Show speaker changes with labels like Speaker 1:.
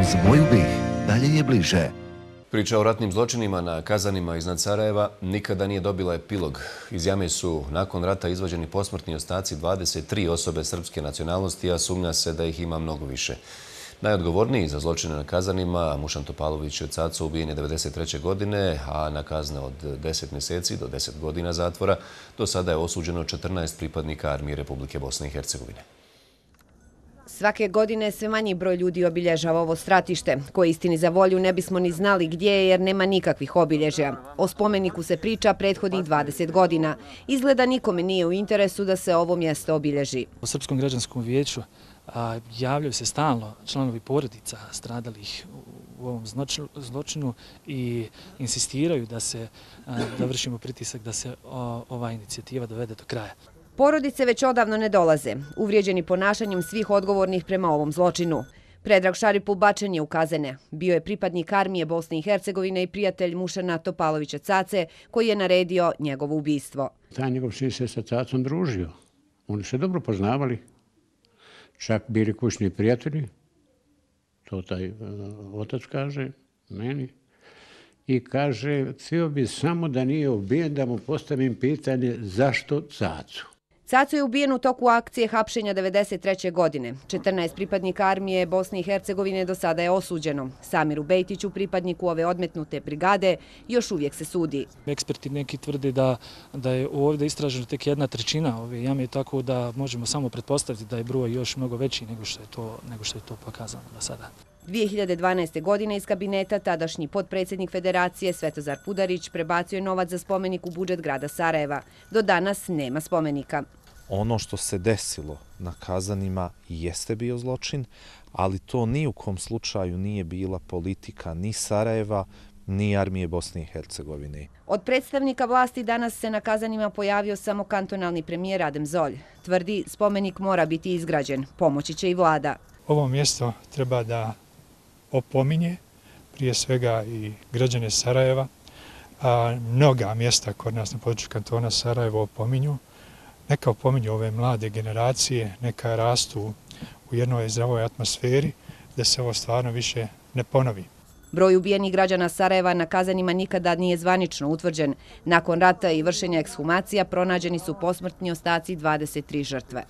Speaker 1: Uz moju BiH dalje je bliže.
Speaker 2: Priča o ratnim zločinima na Kazanima iznad Sarajeva nikada nije dobila epilog. Iz jame su nakon rata izvađeni posmrtni ostaci 23 osobe srpske nacionalnosti, a sumnja se da ih ima mnogo više. Najodgovorniji za zločine na Kazanima, Mušan Topalović od Caco, ubijen je 1993. godine, a na kazne od 10 mjeseci do 10 godina zatvora. Do sada je osuđeno 14 pripadnika armije Republike Bosne i Hercegovine.
Speaker 3: Svake godine sve manji broj ljudi obilježava ovo stratište, koje istini za volju ne bismo ni znali gdje je jer nema nikakvih obilježja. O spomeniku se priča prethodnih 20 godina. Izgleda nikome nije u interesu da se ovo mjesto obilježi.
Speaker 4: U Srpskom građanskom vijeću javljaju se stalno članovi porodica stradalih u ovom zločinu i insistiraju da vršimo pritisak da se ova inicijativa dovede do kraja.
Speaker 3: Porodice već odavno ne dolaze, uvrijeđeni ponašanjem svih odgovornih prema ovom zločinu. Predrag Šaripul bačen je u kazane. Bio je pripadnik armije Bosne i Hercegovine i prijatelj Mušana Topalovića Cace, koji je naredio njegovo ubistvo.
Speaker 5: Taj njegov sin se sa Cacom družio. Oni se dobro poznavali. Čak bili kućni prijatelji. To taj otac kaže meni. I kaže, htio bi samo da nije ubijen, da mu postavim pitanje zašto Cacu.
Speaker 3: Caco je ubijen u toku akcije hapšenja 1993. godine. 14 pripadnika armije Bosne i Hercegovine do sada je osuđeno. Samiru Bejtiću, pripadniku ove odmetnute brigade, još uvijek se sudi.
Speaker 4: Eksperti neki tvrde da je ovdje istraženo tek 1/3 ove jame, tako da možemo samo pretpostaviti da je broj još mnogo veći nego što je to pokazano do sada.
Speaker 3: 2012. godine iz kabineta tadašnji potpredsjednik Federacije Svetozar Pudarić prebacio je novac za spomenik u budžet grada Sarajeva. Do danas nema spomenika.
Speaker 6: Ono što se desilo na Kazanima jeste bio zločin, ali to ni u kom slučaju nije bila politika ni Sarajeva, ni armije Bosne i Hercegovine.
Speaker 3: Od predstavnika vlasti danas se na Kazanima pojavio samo kantonalni premijer Adem Zolj. Tvrdi, spomenik mora biti izgrađen, pomoći će i vlada.
Speaker 7: Ovo mjesto treba da opominje prije svega i građane Sarajeva. Mnoga mjesta kod nas na području kantona Sarajevo opominju. Neka opominju ove mlade generacije, neka rastu u jednoj zdravoj atmosferi, da se ovo stvarno više ne ponovi.
Speaker 3: Broj ubijenih građana Sarajeva na Kazanima nikada nije zvanično utvrđen. Nakon rata i vršenja ekshumacija pronađeni su posmrtni ostaci 23 žrtve.